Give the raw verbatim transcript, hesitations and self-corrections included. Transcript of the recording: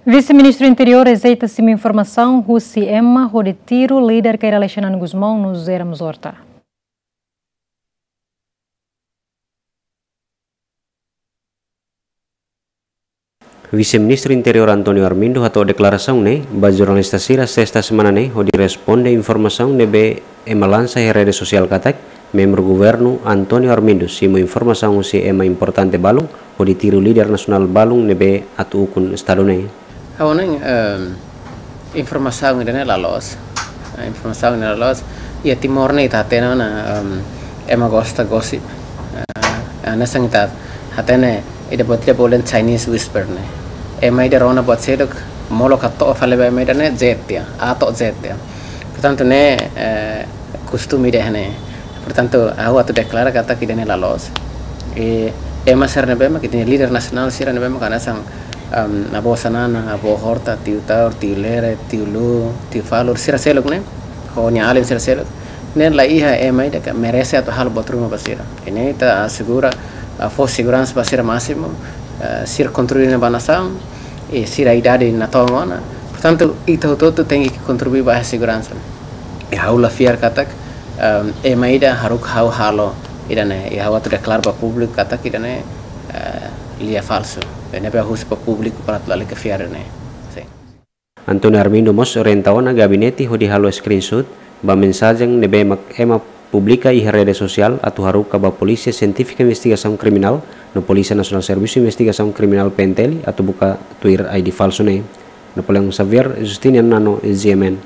Vise-Ministru Interiór rejeita simu informasaun husi ema hodi tiru líder Kay Rala Xanana Gusmão no José Ramos Horta. Vise-Ministru Interiór António Armindo hato'o deklarasaun ne'e ba jornalista sira sesta semana ne'e hodi responde informasaun ne'ebé ema lansa iha rede sosiál katak membru governu António Armindo simu informasaun husi ema importante balun hodi tiru líder nasionál balun ne'ebé atu ukun estadu ne'e. Ha'u hanoin, em, informasaun ida-ne'e la loos. Eh, informasaun ida-ne'e la loos. Iha Timor ne'e ita hatene ona, em, ema gosta gosip. Eh, hanesan ita hatene ida buat ida bolu Chinese whisper ne'e. Ema ida rona buat seluk, molok hato'o fali ba ema ida ne'e Z tiha, A to'o Z tiha. Portantu ne'e, eh, kostume ida ne'e. Portantu, ha'u atu deklara katak ida-ne'e la loos. I ema sira ne'ebé mak, ita-nia líder nasionál sira ne'ebé mak hanesan, em, avó Xanana, avó Horta, tiu Taur, tiu Lere, tiu Lu, tiu Falur, sira seluk ne'e, ho nia alin sira seluk ne'e, la iha ema ida ke merese atu halo buat ruma ba sira. I ne'e ita asegura, ah, fó seguransa ba sira másimu, ah, sira kontribui ona ba nasaun, i sira idade natoon ona. Portantu, ita hotu-hotu tenke kontribui ba seguransa. I ha'u la fiar katak, em, ema ida haruka ha'u halo ida-ne'e, i ha'u atu deklara ba públiku katak ida-ne'e, eh, lia falsu. I ne'ebé ha'u husu ba públiku para atu lalika fiar ne'e. Sin. António Armindo mós orienta ona gabinete hodi halo screenshot ba mensajen ne'ebé mak ema publika iha rede sosiál atu haruka ba Polísia Sientífika Investigasaun Kriminál no Polísia Nasionál Servisu Investigasaun Kriminál, P N T L, atu buka tuir I D falsu ne'e. Napoleão Xavier, Justiniano Nano, G M N.